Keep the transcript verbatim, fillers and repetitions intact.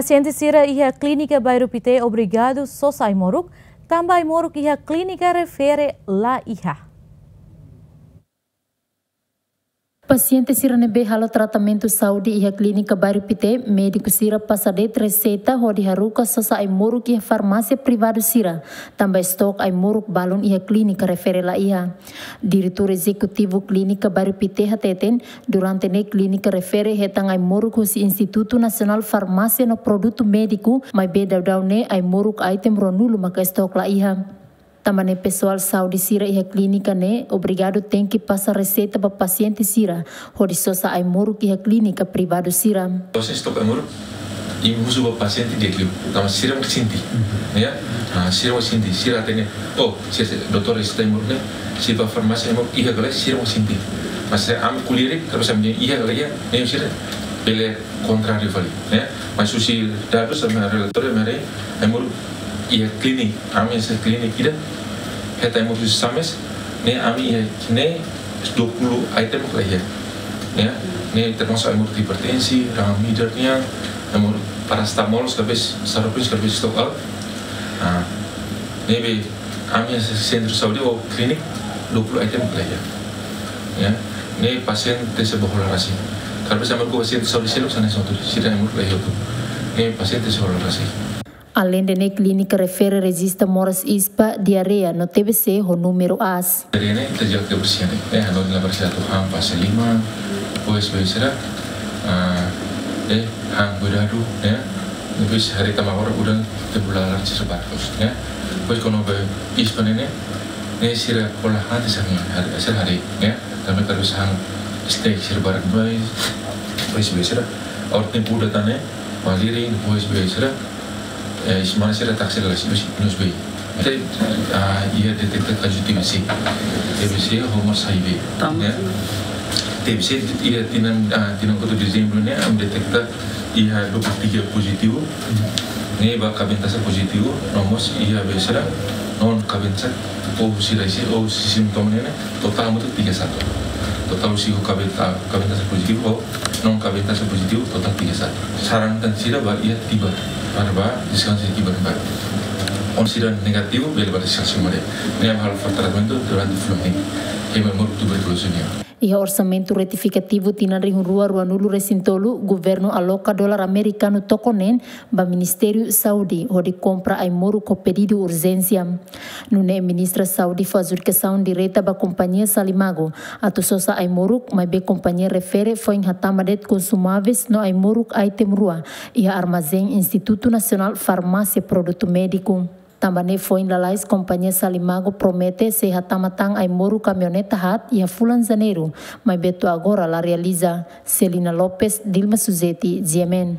Pasiente sira iha Klínika Bairru Pité obrigadu sosa ai-moruk, tanba ai-moruk iha klínika refere la iha. Pasiente sira ne'ebé halo tratamentu saúde iha Klínika Bairru Pité, médiku sira pasa de'it reseita hodi haruka sosa ai-moruk iha farmásia privadu sira, tanba estok ai-moruk balun iha klínika refere la iha. Diretór Ezekutivu Klínika Bairru Pité hateten, durante ne'e klínika refere hetan ai-moruk husi Institutu Nasionál Farmásia no Produtu Médiku, maibé daudaun ne'e ai-moruk item ruanulu maka estok la iha. Tanba ne'e pesoál saúde sira iha klínika ne'e obrigadu tenke pasa reseita ba pasiente sira hodi sosa ai-moruk iha klínika privadu sira. Dosis estok ai-moruk, imi husu ba pasiente di'ak liu. Tanba sira mak sente. Ya? Ah, sira mak sente. Sira hatene, oh, sira, sira, doutór reseita ai-moruk ne'e, sira ba farmásia ai-moruk iha ka lae, sira mak sente. Mas ami ko'alia de'it, kalau sambil iha ka lae, ne'e sira bele kontráriu fali. Ya? Mas husi dadus ami-nia relatóriu, ami haree, ai-moruk iha klinik, ami-nia klinik ida, hetan ai-moruk husi SAMES, ne'e ami iha ne'e dua puluh item la iha. Ya, ne'e termasuk ai-moruk hipertensi, rahang midar nian, ai-moruk parasetamol, kabes, saropin, kabes stok out. Ah, ne'ebé ami sentru saúde ou klinik dua puluh item la iha. Ya, ne'e pasiente sira bá hola rasik. Kabes ami-nia pasiente saúde seluk hanesan ne'e, sira ai-moruk la iha hotu. Ne'e pasiente sira hola rasik. Aleinde ne'e klínika refere rejista moras ispa, diarreia no T B C ho númeru aas. Diarreia ne'e terjaga kebersihan ne'e. Eh, hanoin la bersih atu han fase lima, depois bele sira, ah, eh, han kuidadu, ya. Depois haree tanba agora udan tempu laran sira barak loos, ya. Depois kona-ba ispa ne'e, ne'e sira hola han tiha sira haree, ya. Tanba kalau sira han steak sira barak mai, depois bele sira. Agora tempu udan tan ne'e, malirin, depois bele sira. Eh, semana sira taksi la situ si nos be. Te, ah, iha detekta kazu T B C. T B C ho moras H I V. Tama. Ya. T B C iha tinan, ah, tinan kotuk Dezembru ne'e, ami detekta iha dua puluh tiga pozitivu. Ne'e ba kabentasak pozitivu, no mós iha bele sira, non kabentasak, ou sira isi, ou sintoma ne'e, totál hamutuk tiga satu. Totál husi ho kabenta-, kabentasak pozitivu, ho non kabentasak pozitivu, totál tiga satu. Saran tan sira ba iha tibar, para ba deskansa tibar ba. Oinsá sira negativu, bele ba deskansa mare. Ne'e halo fó tratamentu durante fulan ne'e. Ema moruk tuberkuloze nian. Iha orsamentu retifikativu tinan rihun rua ruanulu resin tolu, governu aloka dolar amerikanu tokon neen ba Ministériu Saúde hodi kompra ai-moruk ho pedidu urjénsia. Nune'e Ministra Saúde fó adjudikasaun direta ba kompañia Salimago atu sosa ai-moruk, maibé kompañia refere foin hatama de'it konsumáveis no ai-moruk item rua iha armazén Institutu Nasionál Farmásia Produtu Médiku. Tanba ne'e foin lalais kompañia Salimago promete sei hatama tan ai-moruk kamioneta haat iha fulan Janeiru, maibé to'o agora la realiza. Celina Lopes, Dilma Suzeti, G M N.